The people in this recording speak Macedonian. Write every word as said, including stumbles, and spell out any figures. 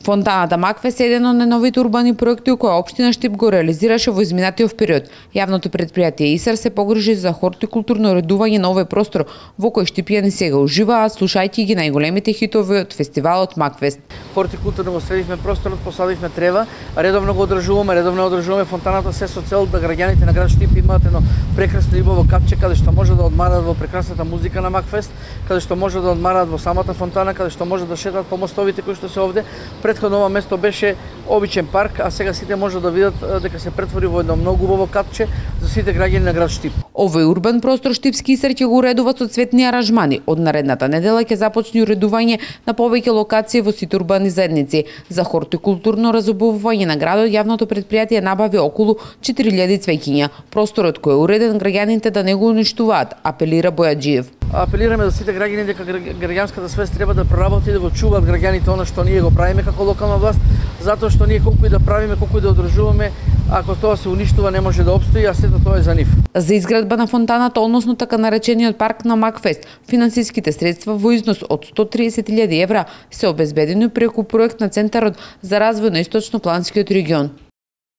Фонтаната Макфест е еден од најновите урбани проекти кои општина Штип го реализираше во изминатиот период. Јавното предпријатие ИСАР се погрижи за хортикултурно уредување на овој простор во кој штипјани сега уживаат слушајќи ги најголемите хитови од фестивалот Макфест. Хортикултурно го средивме просторот, посадивме трева, редовно го одржуваме, редовно одржуваме фонтаната се со цел да граѓаните на град Штип имаат едно прекрасно убаво капче каде што може да одмарат во прекрасната музика на Макфест, каде што може да одмарат во самата фонтана, каде што може да шетаат по мостовите кои што се овде. Претходно ова место беше обичен парк, а сега сите може да видат дека се претвори во едно многу убаво капче за сите граѓани на град Штип. Овој урбан простор Штипски ИСАР ќе го уредува со цветни аранжмани. Од наредната недела ќе започне уредување на повеќе локации во сите урбани заедници. За хортикултурно разубавување на градот јавното предпријатие набави околу четири илјади цвеќиња. Просторот кој е уреден граѓаните да не го уништуваат, апелира Бојаджиев. Апелираме за сите граѓани дека граѓанската свест треба да проработи и да го чуваат граѓаните она што ние го правиме како локална власт, затоа што ние колку и да правиме, колку и да одржуваме, ако тоа се уништува не може да опстои, а сето тоа е за нив. За изградба на фонтаната, односно така наречениот парк на Макфест, финансиските средства во износ од сто триесет илјади евра се обезбедени преку проект на Центарот за развој на Источнопланскиот регион.